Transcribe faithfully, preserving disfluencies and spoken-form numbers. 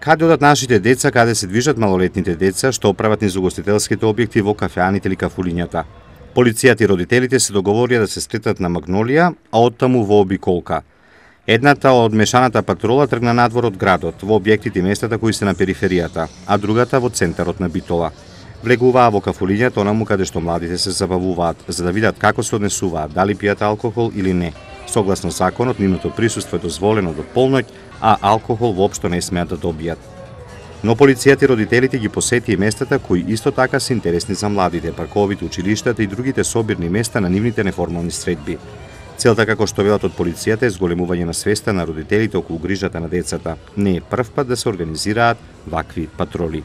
Каде одат нашите деца, каде се движат малолетните деца, што прават низ угостителските објекти во кафеаните или кафулињата. Полицијата и родителите се договорија да се сретнат на Магнолија, а оттаму во обиколка. Едната од мешаната патрола тргна надвор од градот, во објектите и местата кои се на периферијата, а другата во центарот на Битола. Влегуваа во кафулињата онаму каде што младите се забавуваат, за да видат како се однесуваат, дали пијат алкохол или не. Согласно законот, нивното присуство е дозволено до полноќ, а алкохол воопшто не смеат да добијат. Но полицијата и родителите ги посети и местата кои исто така се интересни за младите, парковите, училиштата и другите собирни места на нивните неформални средби. Целта, како што велат од полицијата, е зголемување на свеста на родителите околу грижата на децата. Не е прв пат да се организираат вакви патроли.